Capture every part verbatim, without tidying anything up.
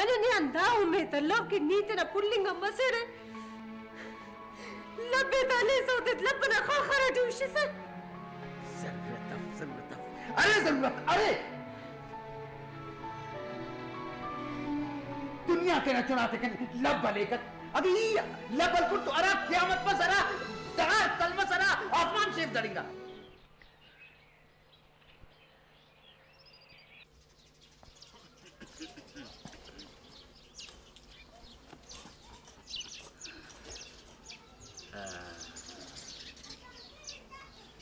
اگہ نے آن دا امیت الو کہ نی تینا پھلنگ آن مسڑ ءِ، لب ءِ تا ہلیسہ اودے لب ئنا خاخر ئٹی ہشسہ۔ ضرورت اف، ضرورت اف۔ ارے ضرورت ارے۔ دنیا تینا چنا تے کن لب ہلیکک۔ اگہ ای لب ہلکن تو ہرا قیامت مس، ہرا ڈغار تلمس، ہرا آسمان شیف دڑنگا۔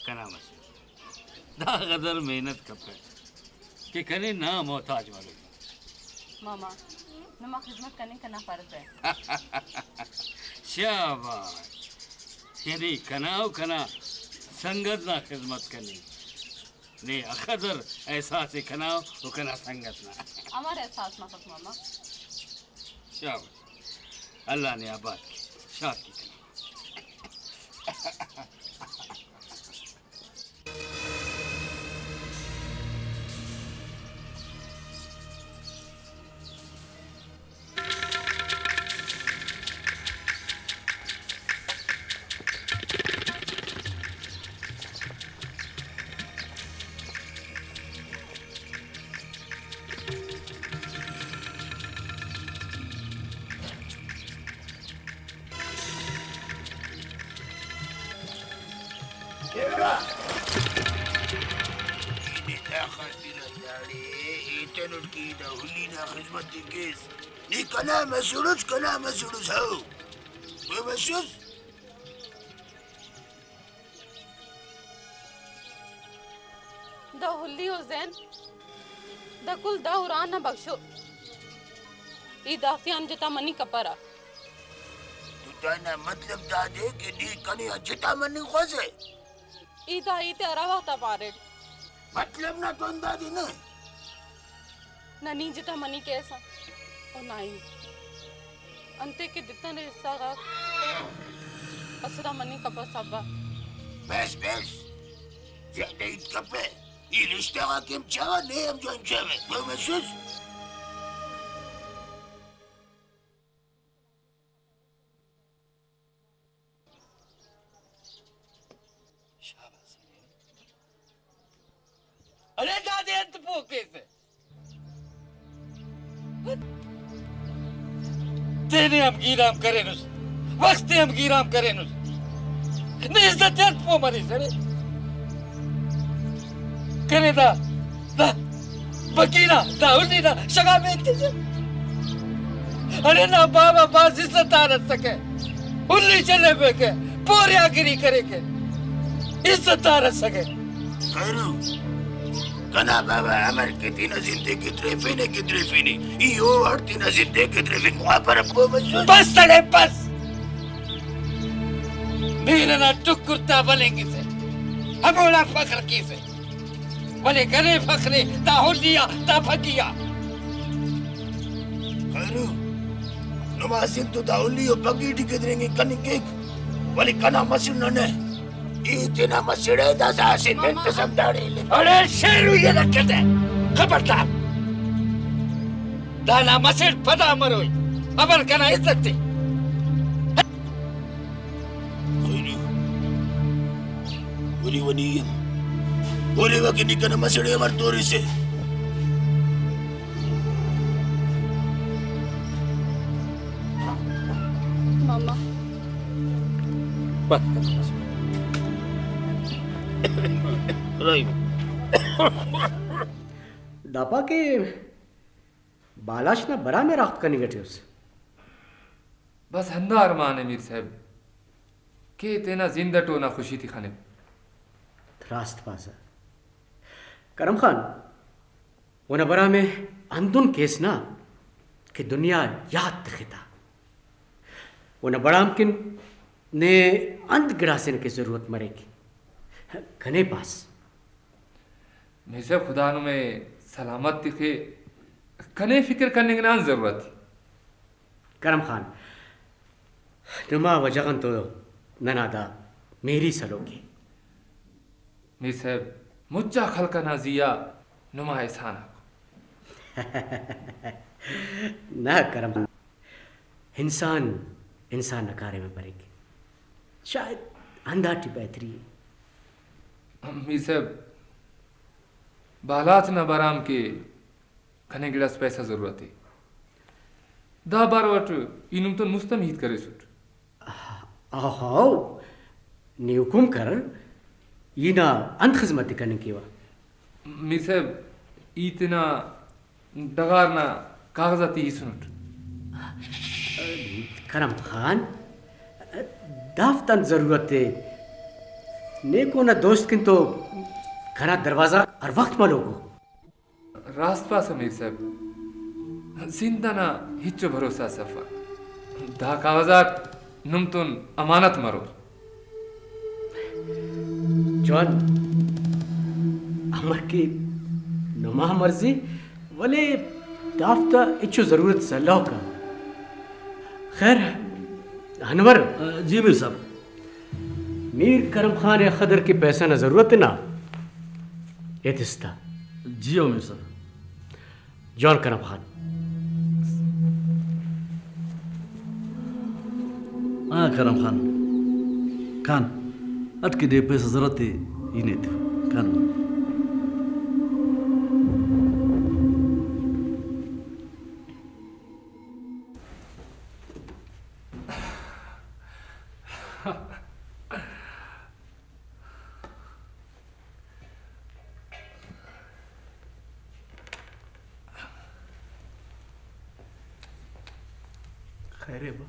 کنا مسڑ۔ دا قدر محنت کپہ کہ کنے نا محتاج مروئی۔ ماما، نما خذمت کننگ کنا فرض ءِ۔ شاباش۔ یعنی کنا و کنا سنگت نا خذمت کننگ۔ نے اخدر احساس ءِ کنا و کنا سنگت نا۔ امر احساس مفک ماما۔ شاباش۔ اللہ نے آباد کے، شاد کے کنا۔ ایتنٹ کہ دا ہلی نا خذمت ءِ کیس۔ نی کنا مسڑ اس، کنا مسڑ اس، ہو۔ او مسڑ اس۔ دا ہلی و زین، دا کل دا ہران نا بخشو۔ ای دافتیان جتا مننگ کپرہ۔ تو دانا مطلب دادے کہ نی کنے آن جتا مننگ خواسے؟ ای دا ہیت ءِ ہرا وخت آ پاریٹ۔ مطلب نا تو اندازے نہ؟ نہ نی جتا مننگ کیسہ و نہ ای۔ انتئے کہ دتنے حصہ غاک اسہ دا مننگ کپس ابا۔ بس بس، زیادہ ہیت کپہ۔ ای رشتہ غاک ہم چاوہ، نے ہم جوان چاوہ۔ گڑا مسس؟ شاباس۔ ارے دادے انت پوہ کیسہ؟ تینے ہم گیرام کرینس، وخت تے ہم گیرام کرینس۔ نی عزت تے انت پوہ مریس ارے؟ کنے دا، دا بگی نا، دا ہلی نا شگا بے انتظار۔ ارے نا بابا بھاز عزت دار ئسکہ، ہلی چلیفیکہ، پوریاگری کریکہ، عزت دار ئسکہ۔ خیرو، کنا بابا امر کہ تینا زند ءِ گدریفینے، گدریفینے، ای او وڑ تینا زند ءِ گدریفنگ خواپرہ، پہہ مسس؟ بس تڑے بس۔ مہر ئنا ٹکر تا ولینگسہ، ہموڑا فخر کیسہ۔ ولے کنے فخر ءِ دا ہلی آ، دا پگی آ۔ خیرو، نما زند تو دا ہلی و پگی ٹی گدرینگنگ کننگ کیک، ولے کنا مسڑ ننے۔ ای تینا مسڑ ءِ، داسہ اسہ منٹ اس ہم داڑے الف۔ اڑے شیروئی ءِ رکھہ تہ، خبردار۔ دانا مسڑ پدا مروئی، امر کنا عزت ءِ۔ خیرو، ولے ونی ہم۔ ولے وکہ نی کنا مسڑ ءِ امر توریسہ؟ ماما۔ بس، بس، بس۔ داپا کہ بالاچ نا برام ءِ راخت کننگ ٹی اس۔ بس ہندا ارمان ءِ میر صاحب کہ تینا زند اٹ اونا خوشی تے خنپ۔ راست پاسہ کرم خان، اونا برام ءِ ہندن کیس نا کہ دنیا یات تختا۔ اونا برام کن نے انت گڑاسے نا کہ ضرورت مریک، کنے پاس۔ میر صاحب، خدا نمے سلامت تخے، کنے فکر کننگ نا انت ضرورت ءِ۔ کرم خان، نما وجہ غان تو ننا دا مہری سلوک ءِ۔ میر صاحب، مچا خلق ئنا زی آ نما احسان آک۔ نا کرم، انسان انسان نا کاریم ء بریک، شاید ہنداٹی بہتری ء۔ میر صاحب، بالات نا برام کہ کنے گڑاس پیسہ ضرورت ء۔ دا بارو اٹ ای نم تون مست ہم ہیت کریسٹ۔ ہاؤ، نی حکم کر، ای نا انت خذمت ء کننگ کیوہ؟ میر صاحب، ای تینا ڈغار نا کاغذاتے ہیسنٹ۔ کرم خان، دافتا انت ضرورت ء؟ نے اونا دوست کن تو کنا دروازہ ہر وخت ملوک ء۔ راست پاسہ میر صاحب، زند انا ہچو بھروسہ اس افک۔ دا کاغذاک نم تون امانت مرور۔ جوان، امر کہ نما مرضی، ولے دافتا ہچو ضرورت اس الوکا۔ خیر، انور۔ جی میر صاحب۔ میر کرم خان ء اخدر کہ پیسہ نا ضرورت نا، ایتس تا۔ جی ہو میر صاحب۔ جوان کرم خان۔ ہاں کرم خان، کان اٹ کہ دے پیسہ ضرورت ء، ای نے ایتو کان۔ خیر ء با۔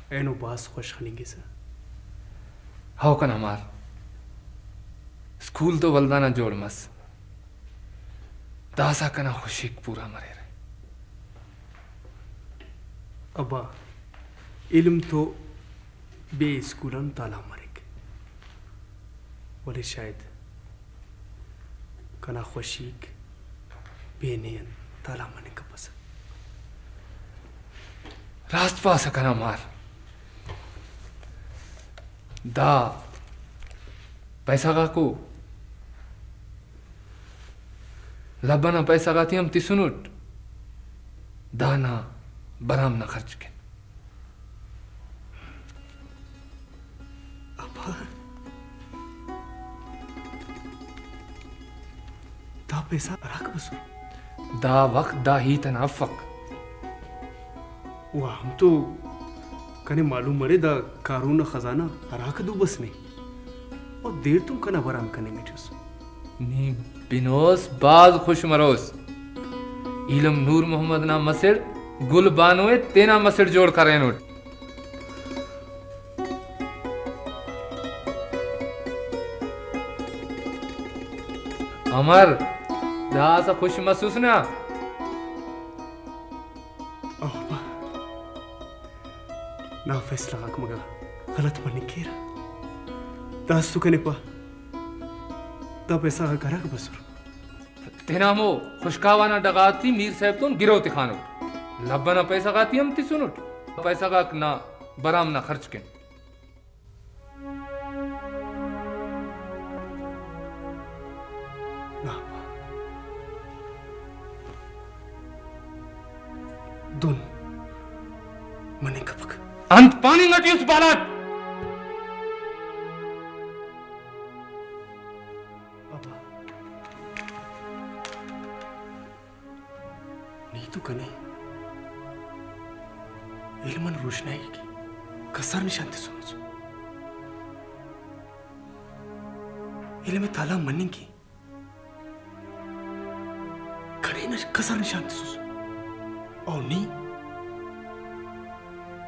اینو بھاز خوش خننگسہ۔ ہو کنا مار، اسکول تو ولدانا جوڑ مس، داسہ کنا خوشیک پورا مریرہ۔ ابا، علم تو بے اسکول آن تالان مریک، ولے شاید کنا خوشیک بے نے آن تالان مننگ کپسہ۔ راست پاسہ کنا مار، دا پیسہ غاکو لب ئنا پیسہ غاتے ہم تسنٹ، دانا برام نا خرچ کن۔ ابا، دا پیسہ ہراکہ بسر؟ دا وخت دا ہیت ئنا افک۔ و ہم تو کنے معلوم مرے، دا کارون نا خزانہ ہراکہ دو بس نے۔ او دیر تون کنا برام کننگ ٹی اس۔ نی بنوس بھاز خوش مروس۔ ایلم نور محمد نا مسڑ گل بانو ء تینا مسڑ جوڑ کرینٹ۔ امر، داسہ خوش مسوس نا؟ آہا۔ نا فیصلہ غاک مگہ غلط مننگ کیرہ۔ داسہ تو کنے پا، دا پیسہ غاک ہراکہ بسر؟ تینا ہمو خشکاوا نا ڈغار ٹی میر صاحب تون گرو تخانٹ۔ لب ئنا پیسہ غاتے ہم تسنٹ، پیسہ غاک نا برام نا خرچ کن۔ نا پا۔ دن مننگ کپک۔ انت پاننگ ٹی اس بالاٹ؟ ابا، نی تو کنے علم آن روشنائی کہ کسر نشان تسونس۔ علم ء تالان مننگ کہ کنے نش-، کسر نشان تسوس۔ او نی؟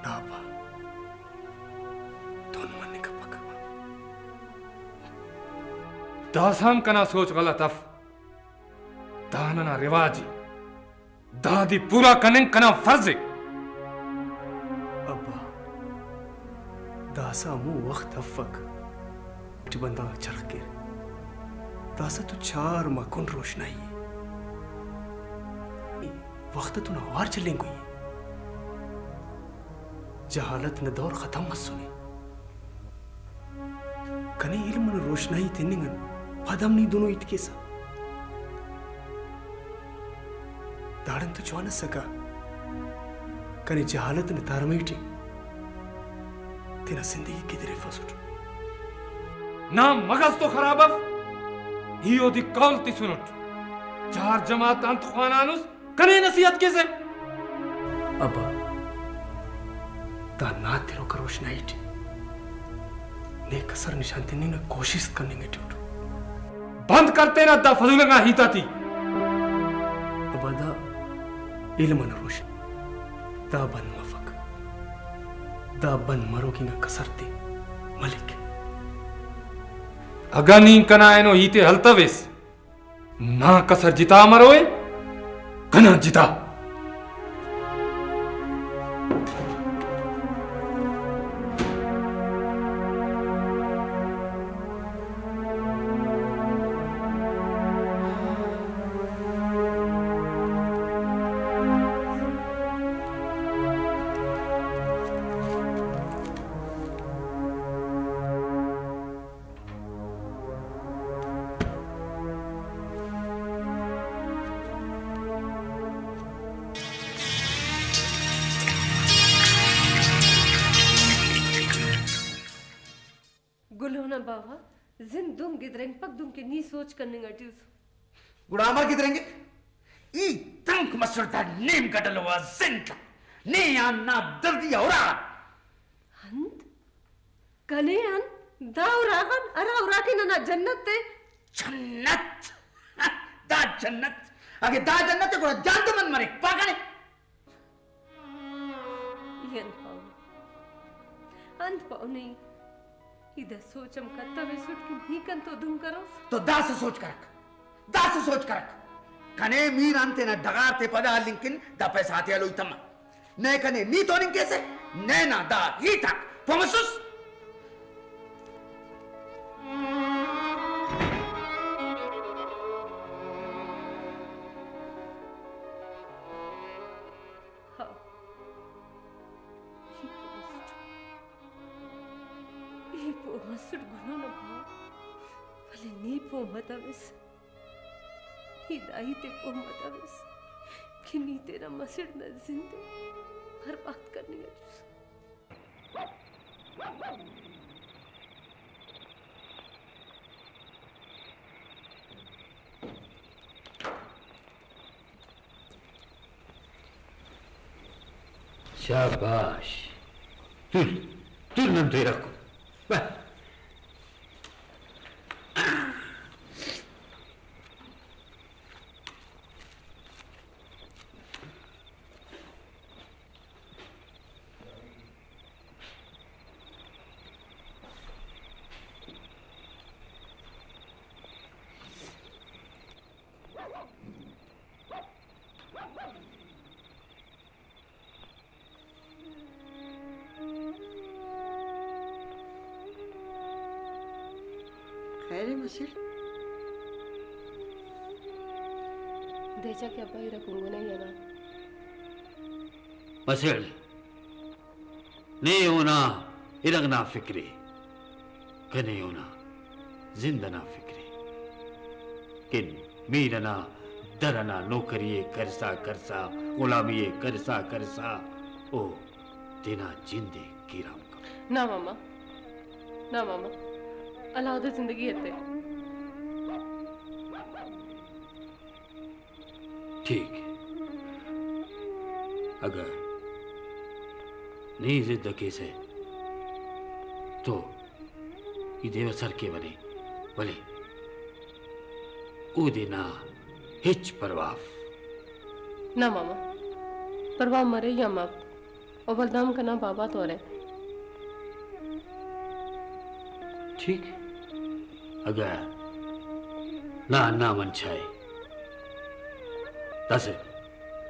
نا با، دن مننگ کپک۔ داسہ ہم کنا سوچ غلط اف۔ دا ننا رواج ء۔ دادے پورا کننگ کنا فرض ء۔ ابا، داسہ ہمو وخت افک ٹی بندغ آک چرخ کیر۔ داسہ تو چار مکن روشنائی ء۔ وخت اتون اوار چلینگوئی ء۔ جہالت نا دور ختم مسنے۔ کنے علم نا روشنائی تننگ آن پد ہم نی دنو ہیت کیسہ۔ داڑان تو جوان ئسکہ، کنے جہالت نا تارمئی ٹی تینا زندگی گدریفسٹ۔ نا مغز تو خراب اف، ای اودے قول تسنٹ۔ چار جماعت انت خوانانس، کنے نصیحت کیسہ؟ ابا، دا نا تروکا روشنائی ٹی نے کسر نشان تننگ نا کوشست کننگ ٹی اٹ۔ بند کر تینا دا فضول انگا ہیت آتے۔ ابا، دا علم انا روشنائی، دا بند مفک۔ دا بند مروک انگا کسر تے ملک۔ اگہ نی کنا اینو ہیت ءِ ہلتویس، نا کسر جتا مروئے، کنا جتا۔ گلو نا باوہ، زند دن گدرینگپک دنکہ نی سوچ کننگ اٹی اس۔ گڑا امر گدرینگک؟ ای تنک مسر دا نیم گڈلو آ زند آ۔ نے آن نا دردی آ اراغان۔ انت؟ کنے آن دا اراغان، ہرا اراکے ننا جنت ءِ؟ جنت؟ دا جنت؟ اگہ دا جنت ءِ گڑا جہندم انت مریک، پا کنے۔ ای انت پاہو؟ انت پاہو نے؟ ای دا سوچ ہم کتویسٹ کہ نی کنتو دن کروس؟ تو داسہ سوچ کرک، داسہ سوچ کرک۔ کنے میر آن تینا ڈغار تے پدا ہلنگ کن دا پیسہ غاتے ہلوئی تمک۔ نئے کنے نی توننگ کیسہ، نئے نا دا ہیت آک پہہ مسس؟ ہاں۔ ای پہہ مسٹ۔ ای پہہ مسٹ گلو نا پاہو، ولے نی پہہ متویس۔ ای دا ہیت ءِ پہہ متویس کہ نی تینا مسڑ نا زند ءِ برباد کننگ اٹی اس۔ شاباش۔ تل، تل نن تو ارغ کو۔ بس۔ خیر ءِ مسڑ؟ دیچا کہ ابا ارا کنگنہ ای انا۔ مسڑ، نے اونا ارغ نا فکر ءِ، کنے اونا زند ئنا فکر ءِ۔ کن میر ئنا در ئنا نوکری ءِ کرسا کرسا، غلامی ءِ کرسا کرسا، او تینا جند ءِ گیرام کپک۔ نا ماما، نا ماما، علیحدہ زندگی ایتے۔ ٹھیک۔ اگہ نی ضد کیسہ تو ای دیوہ سر کیوہ نے، ولے اودے نا ہچ پرواہ اف۔ نہ ماما، پرواہ مرے یا مف، او ولدا ہم کنا بابا تو ارے۔ ٹھیک، اگہ نا ہندا منشا ءِ، داسہ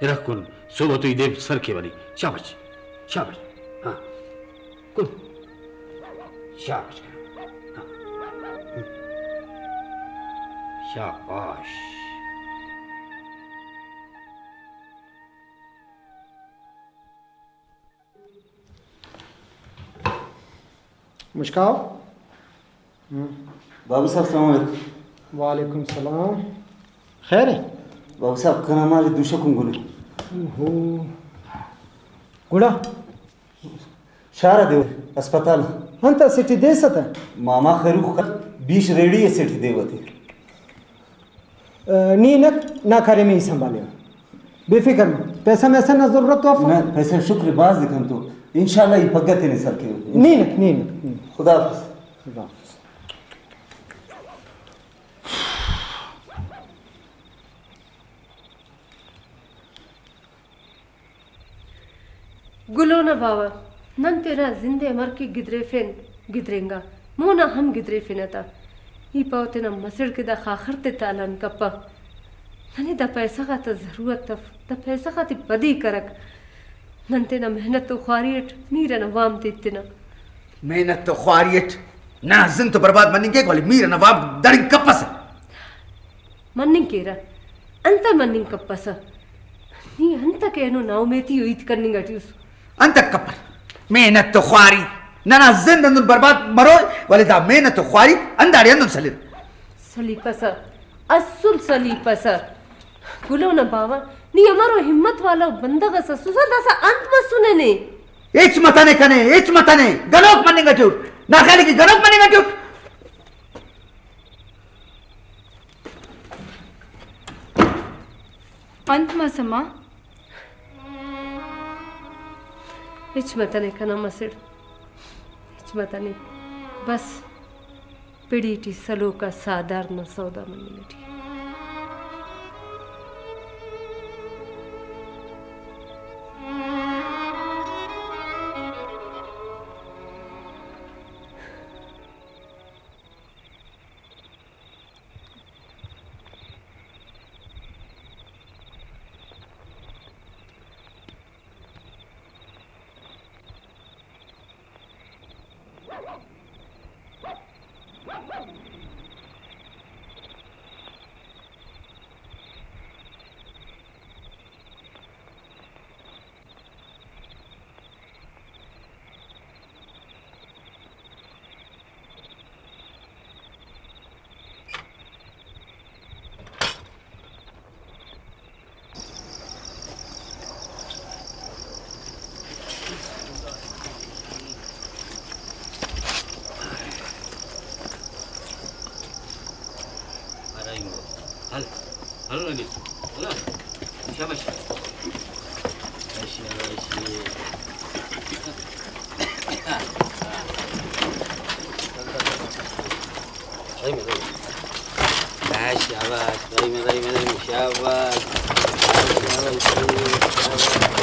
ارغ کن، صحب تو ای دے سر کیوہ نے۔ شاباش، شاباش۔ ہاں، کن۔ شاباش۔ ہاں۔ شاباش۔ مشکاو۔ ہم۔ بابو صاحب، السلام علیکم۔ وعلیکم السلام۔ خیر ہے؟ باوہ صاحب، کنا مال دوشہ کنگنے۔ اوہو۔ گڑا؟ شار آ دیوہ، ہسپتال۔ انت اسٹ ای دیسہ تہ؟ ماما خیروخ خل، بیش ریڑی اسٹ ای دیوہ تے۔ آ، نی ہنک، نا کاریمے ای سنبھالیوہ۔ بے فکر مہ، پیسہ میسہ نا ضرورت تو افک؟ نہ، پیسہ شکر بھاز ءِ کنتو۔ انشاءاللہ ای پگہ تینے سر کیوہ۔ نی ہنک، نی ہنک، نی ہنک۔ خدا حافظ۔ خدا حافظ۔ گلو نا باوہ، نن تینا زند ءِ امر کہ گدریفین، گدرینگا، مونا ہم گدریفنہ تا۔ ای پاوہ تینا مسڑ کہ دا خاخر تے تالان کپہ۔ ننے دا پیسہ غاتا ضرورت اف، دا پیسہ غاتے پدی کرک۔ نن تینا محنت و خواری اٹ میر ئنا وام تے ایتنہ۔ محنت و خواری اٹ ننا زند تو برباد مننگ کیک، ولے میر ئنا وام دڑنگ کپسہ۔ مننگ کیرہ۔ انتئے مننگ کپسہ؟ نی انتکہ اینو ناامیتی و ہیت کننگ اٹی اس؟ انتک کپر؟ محنت و خواری۔ ننا زند ہندن برباد مروئے، ولے دا محنت و خواری ہنداڑے ہندن سلر۔ سلیپسہ، اسل سلیپسہ۔ گلو نا باوہ، نی امرو ہمت والا بندغ اس اسوسہ، داسہ انت مسنے نے؟ ہچ متنے کنے، ہچ متنے۔ گنوک مننگ اٹی اٹ۔ نا خیال ءِ کہ گنوک مننگ اٹی اٹ۔ انت مسہ ماں؟ ہچ متنے کنا مسڑ، ہچ متنے۔ بس پڑی ٹی سلوک آ ساہدار نا سودا مننگ ٹی۔ ہلو نبیل، ہلو۔ شاباش۔ شاباش، شاباش۔ رحیم، رحیم۔ شاباش، رحیم، رحیم، رحیم، شاباش۔ شاباش، شاباش، شاباش۔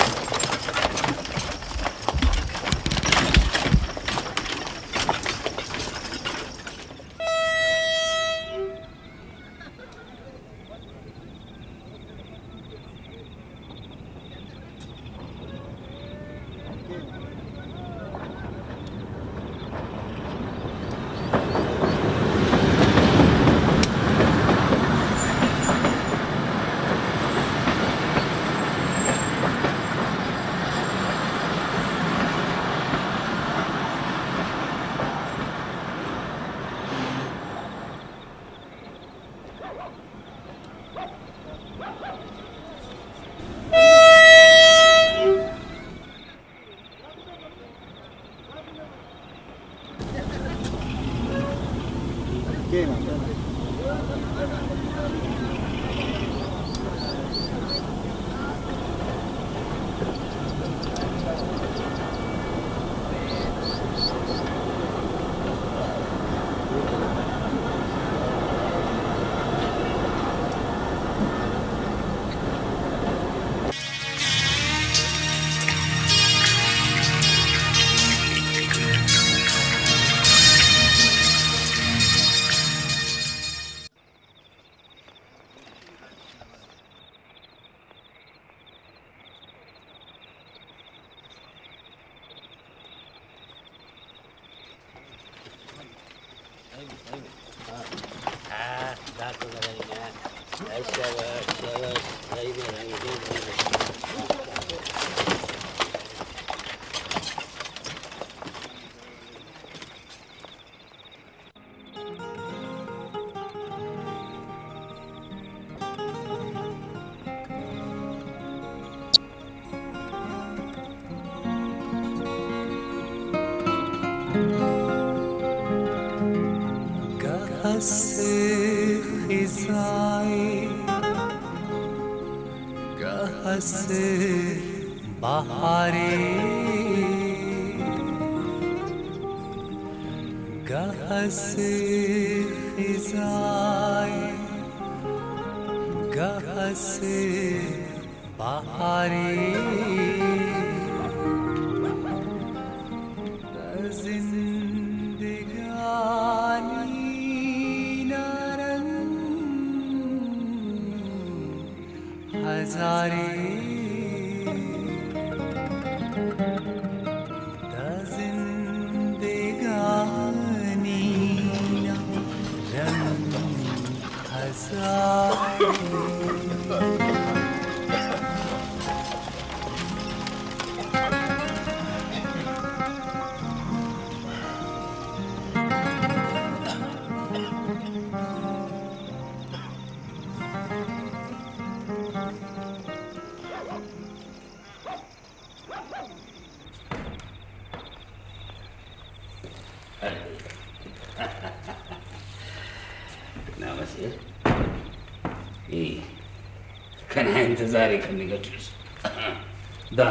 اسہ خزائے، گہ اسہ بہارے، گہ اسہ خزائے، گہ اسہ بہارے، دا زندگانی نا رنگ ہزارے، دا زندگانی نا رنگ ہزارے۔ نامسے، ای کنا انتظار ءِ کننگ اٹ اُس۔ دا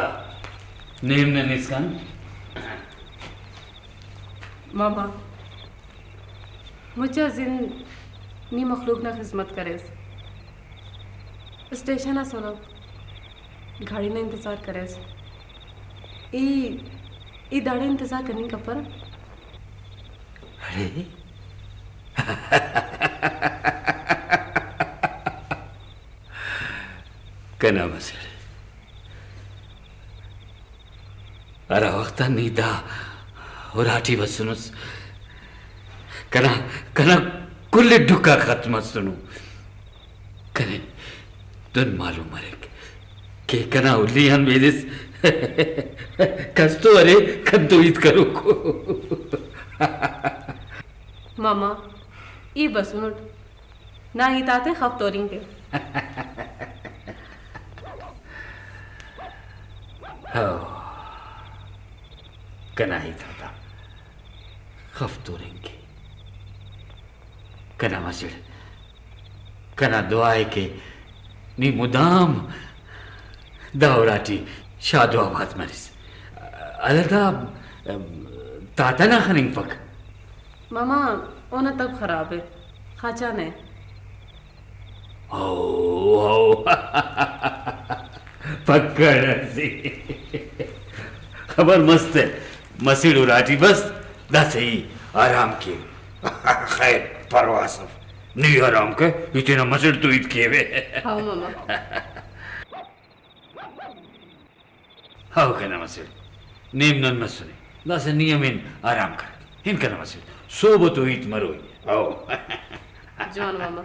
نیم نن اسکان۔ ماما، مچا زند نی مخلوق نا خذمت کریس۔ اسٹیشن آ سلوک گاڑی نا انتظار کریس۔ ای، ای داڑے انتظار کننگ کپرہ۔ اڑے؟ کنا مسڑ۔ ہرا وخت آ نی دا اراٹی بسنس، کنا، کنا کل ڈکھ آک ختم مسنو۔ کنے دن معلوم مریک کہ کنا ہلی آن بیدس کس تو ارے کن تو ہیت کروکو۔ ماما، ای بسنٹ۔ نا ہیت آتے خف تورنگ کے۔ ہو، کنا ہیت آتا خف تورنگ کے۔ کنا مسڑ، کنا دعا ءِ کہ نی مدام دا اراٹی شاد و آباد مریس۔ اللہ دا تاتا نا خننگپک۔ ماما، اونا طبع خراب ءِ، خاچان ءِ۔ ہو، ہو۔ پکڑ اسے۔ خبر مست ءِ، مسڑ اراٹی بس، داسہ ای آرام کے۔ خیر، پرواہ اف، نی آرام کے، ای تینا مسڑ تو ہیت کیوہ۔ ہاں ماما۔ ہاو کنا مسڑ، نیم نن مسنے، داسہ نی ہم ہن آرام کرک۔ ہن کنا مسڑ، سہب تو ہیت مروئی۔ ہاو۔ جوان ماما۔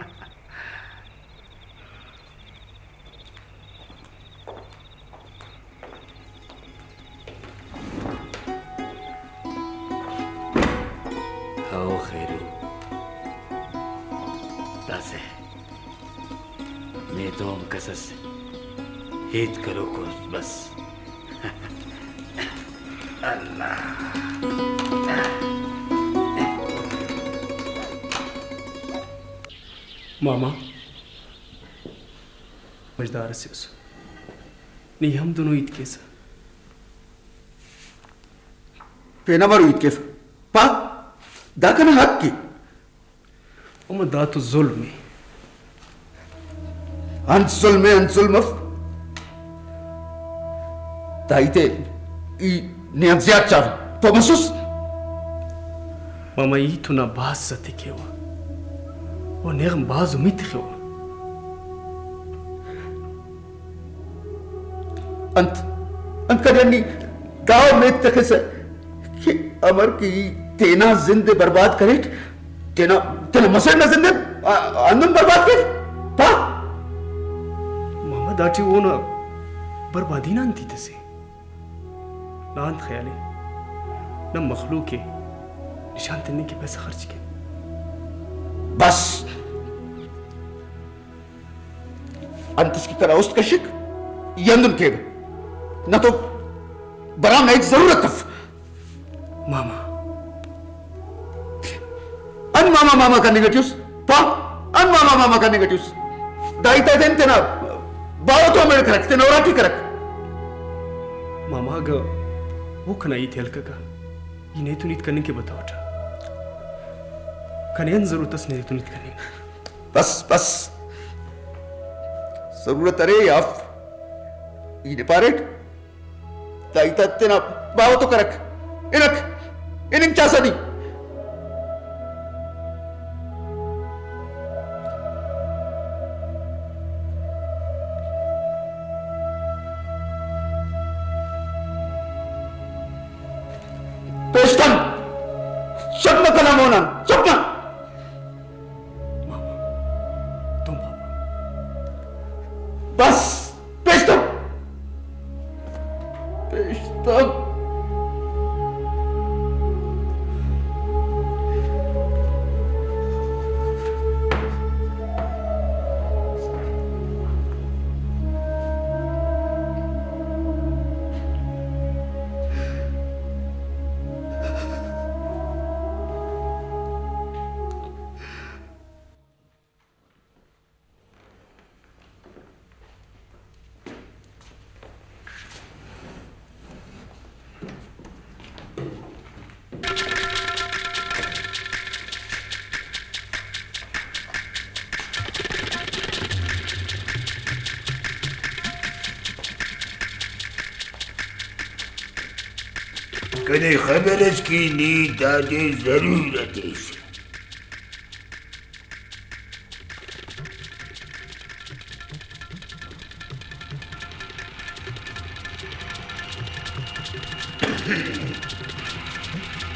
ہاو خیرو، داسہ۔ نے تو ہم کس اس ہیت کروکو بس۔ اللہ۔ ماما، مجدار اسے اس۔ نی ہم دنو ہیت کیسہ۔ تینا مرو ہیت کیسہ۔ پا، دا کنا حق ءِ۔ اماں دا تو ظلم ءِ۔ انت ظلم ءِ، انت ظلم اف۔ دا ہیت ءِ ای نے آن زیات چاوہ، پہہ مسس؟ ماما، ای تو نا بھاز عزت ءِ کیوہ و نے غان بھاز امیت تخوہ۔ انت، انت کنے نی دا امیت تخسہ کہ امر کہ ای تینا زند ءِ برباد کریٹ، تینا، تینا مسڑ نا زند ءِ، آ، ہندن برباد کیو؟ پا۔ ماما، داٹی اونا بربادی نا انت ہیت اسے؟ نا انت خیال ءِ؟ نن مخلوق ءِ نشان تننگ کہ پیسہ خرچ کین۔ بس۔ انت اس کہ کنا است کشک، ای ہندن کیوہ۔ نہ تو برام نا ہچ ضرورت اف۔ ماما۔ انت ما ماما، ماما کننگ ٹی اس۔ پا، انت ماما، ماما کننگ ٹی اس؟ دا ہیت آ تین تینا باوہ تو ہمیڑ کرک، تینا اراٹی کرک۔ ماما، اگہ او کنا ہیت ءِ ہلککہ، ای نیتون ہیت کننگ کہ بتوٹہ۔ کنے انت ضرورت اس نیتون ہیت کننگ؟ بس، بس۔ ضرورت ارے یا اف؟ ای نے پاریٹ؟ دا ہیت آ تینا باوہ تو کرک۔ ہنک، ہننگ چاسہ نی۔ پیشتم، چپ نہ کنا مونان، چپ نہ۔ ماما، تم بابا۔ بس، پیشتم۔ پیشتم۔ کنے خبر اس کہ نی دادے ضرورت اس۔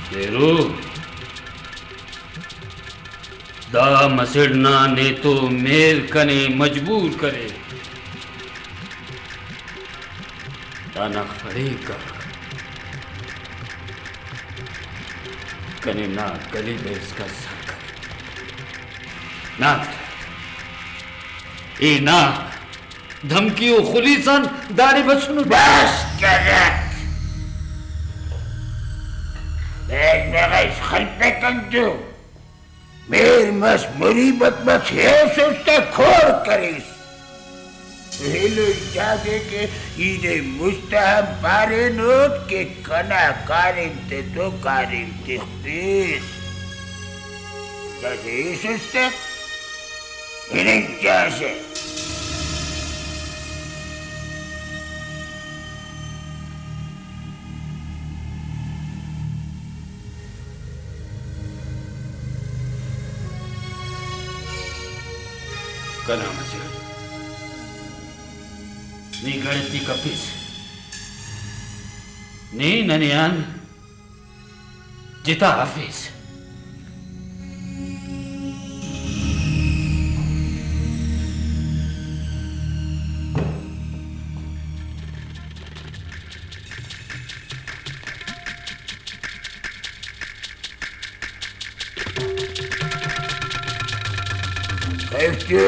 پیرو، دا مسڑ نا نیتو مہر کنے مجبور کرے۔ دانا خڑینک آک کنے نا گلی بے اسکا سر کرے۔ نا، اے نا دھمکی و خلیس آن داڑے بسنٹ۔ بس کرک۔ بیگ بغش خلپک انتو۔ مہر مس، مریبت مس، ایسس تہ کھوڑ کریس۔ ایلو چاگہ کہ ای نے مست آن پارینٹ کہ کنا کاریم تے تو کاریم تخپیس۔ داسہ ایسس تہ ہننگ چاسہ۔ کنا مچہ، نی گڑتی کپیس، نی ننے آن جتا ہرفیس۔ خیفتے۔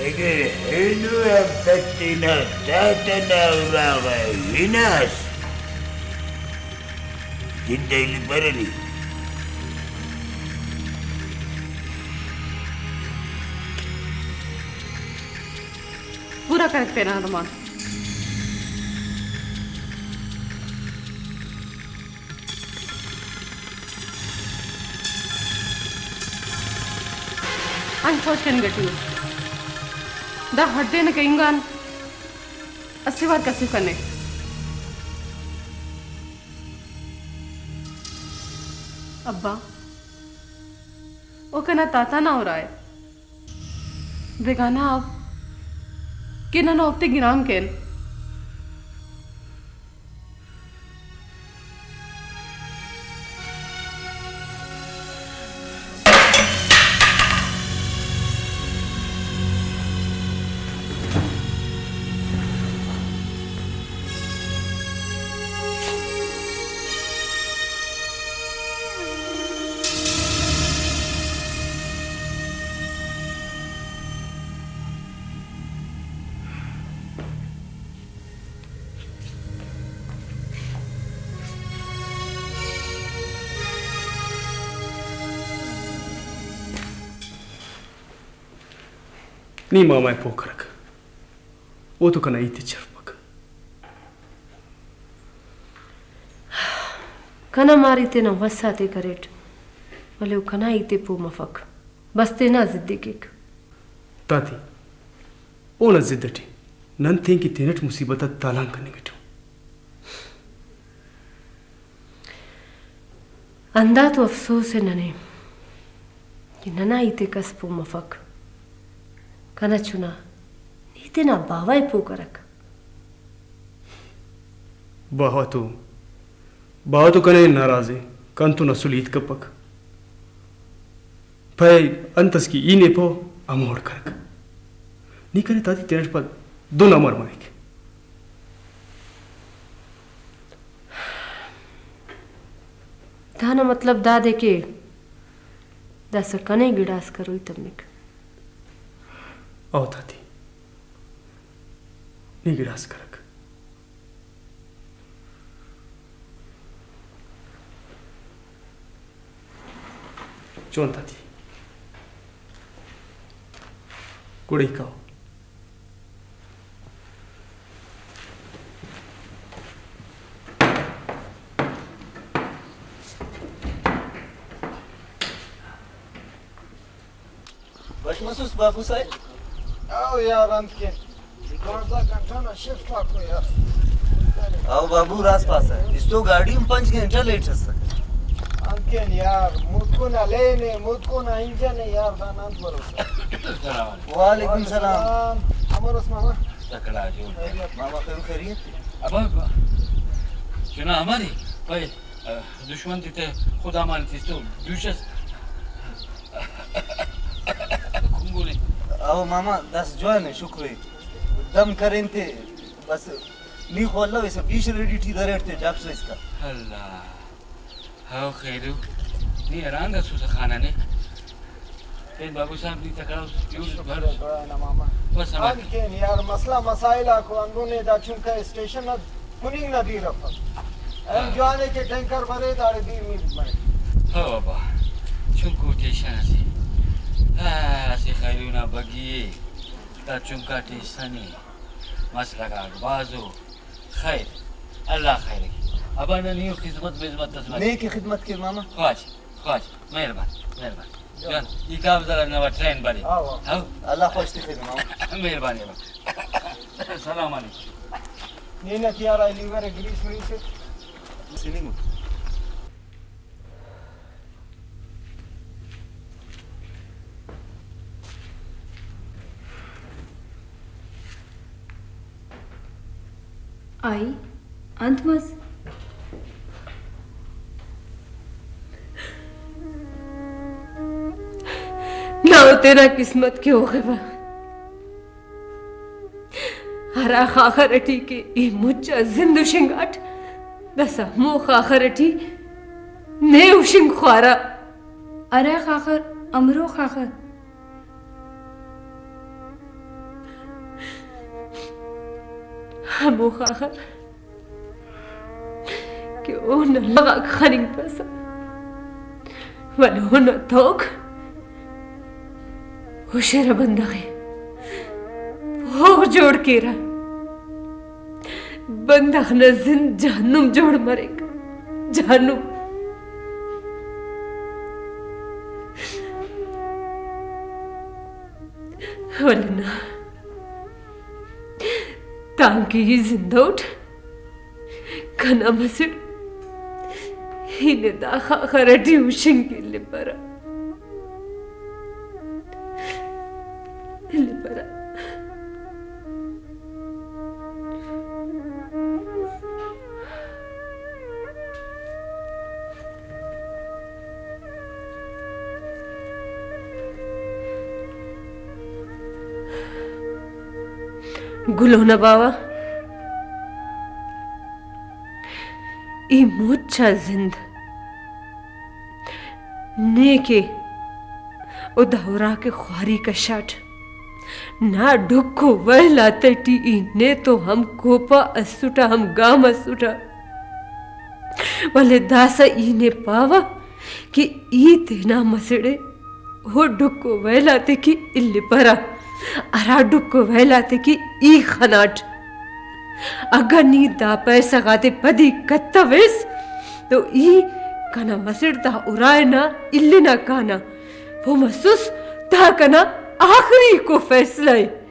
اگہ اینو آن پد تینا تاتہ نا اراغا ہناس، زندہ الیپرہ نی۔ پورا کرک تینا ارمان۔ انت سوچ کننگ ٹی ءُ۔ دا ہڈ تینا کہنگ آن اسہ وار کسف کنے۔ ابا، او کنا تاتہ نا ارا ءِ۔ بیگانہ اف کہ نن اوفتے گرام کین۔ نی ماما ءِ پہہ کرک، او تو کنا ہیت ءِ چرپک۔ کنا ماری تینا وس آتے کریٹ، ولے او کنا ہیت ءِ پہہ مفک، بس تینا ضد ءِ کیک۔ تاتی، اونا ضد اٹی نن تینکہ تینٹ مصیبت آ تالان کننگ اٹی۔ ہندا تو افسوس ءِ ننے کہ ننا ہیت ءِ کس پہہ مفک۔ کنا چنا، نی تینا باوہ ءِ پہہ کرک۔ باوہ تو، باوہ تو کنے ناراض ءِ، کنتون اسل ہیت کپک۔ پائے انت اس کہ ای نے پاو ہمو وڑ کرک۔ نی کنے تاتی تینٹ پد دن امر مریک۔ دانا مطلب دادے کہ داسہ کنے گڑاس کروئی تمک۔ او تاتی، نی گڑاس کرک۔ چون تاتی۔ گڑا ای کاو۔ بش مسوس بابو صاحب۔ او یار، انت کن۔ دوازدہ گھنٹہ نا شفٹ آکو یار۔ او بابو، راست پاسہ۔ استو گاڑی ہم پنچ گھنٹہ لیٹ ئسک۔ انت کن یار، متکو نا لین ءِ، متکو نا انجن ءِ یار، دانا انت بھروسہ۔ السلام علیکم۔ وعلیکم السلام۔ امر اس ماما؟ تکڑا جوڑ۔ خیریت؟ ماما خیر خیریت؟ ابا، چنا امر ءِ؟ پائے۔ دشمن تے تے خدا مان تستو دوشس۔ کنگولے۔ او ماما، داسہ جوان ءِ، شکر ءِ۔ دم کرین تے بس، نی خو اللہ ویسا پیش ریڈی ٹی دریٹ تے ڈاکٹر اسکا۔ اللہ۔ ہاو خیرو، نی حیران دا سوسہ خانہ نے۔ پین بابو صاحب نی تکڑا اس، یو بھر۔ شکر ءِ، دعا نا ماما۔ بس ہمار۔ آن کین یار، مسئلہ مسائل آکو ہندن ءِ، دا چنکا اسٹیشن نا کننگ نا دیر افک۔ اینو ہاں۔ جوان ءِ کہ ٹینکر برے، داڑے دیر میر مرے۔ ہو ابا، چنکو ٹیشن اسے۔ ہاں، اسہ خیرو نا بگی ءِ، دا چنکا ٹیشن ءِ۔ مسئلہ غاک بھازو۔ خیر، اللہ خیر ءِ۔ ابا نن ایہن خذمت بزمت اس مریک۔ نیک خدمت کیر ماما۔ خواجہ۔ خواجہ، مہربانی، مہربانی۔ جان، ای کاغذ نا ٹرین بری۔ ہاں، ہاں۔ ہاں؟ اللہ خوش تخیر ماما۔ مہربانی بابا۔ السلام علیکم۔ نینا تیارا لیور گریس مریس۔ سننگ۔ آئی، انت مس؟ نا، او تینا قسمت کہ اوغفا۔ ہرا خاخر ئٹی کہ ای مچ آ زند ہشنگاٹ، داسہ ہمو خاخر ئٹی نے ہشنگ خوارہ۔ ارا خاخر، امرو خاخر؟ ہمو خاخر کہ اونا لغاک خننگپسہ، ولے اونا توک ہشرہ بندغ ءِ پوغ جوڑ کیرہ۔ بندغ نا زند جہنم جوڑ مریک، جہنم۔ ولے نا، تانکہ ای زندہ اٹ، کنا مسڑ ای نے دا خاخر ئٹی ہشنگ الیپرہ۔ الیپرہ۔ گلو نا باوہ، ای مچ آ زند نے کہ او دا اراکہ خواری کشاٹ۔ نا ڈکھ و ویل آتیٹی ای نے تو ہم کوپہ اسٹہ، ہم گام اسٹہ، ولے داسہ ای نے پاوہ کہ ای تینا مسڑ ئے او ڈکھ و ویل آتے کہ الیپرہ۔ ہرا ڈکھ و ویل آتے کہ ای خناٹ۔ اگہ نی دا پیسہ غاتے پدی کتویس تو ای کنا مسڑ تا ارائے نا النا کانہ۔ پہہ مسس، دا کنا آخریکو فیصلہ ءِ۔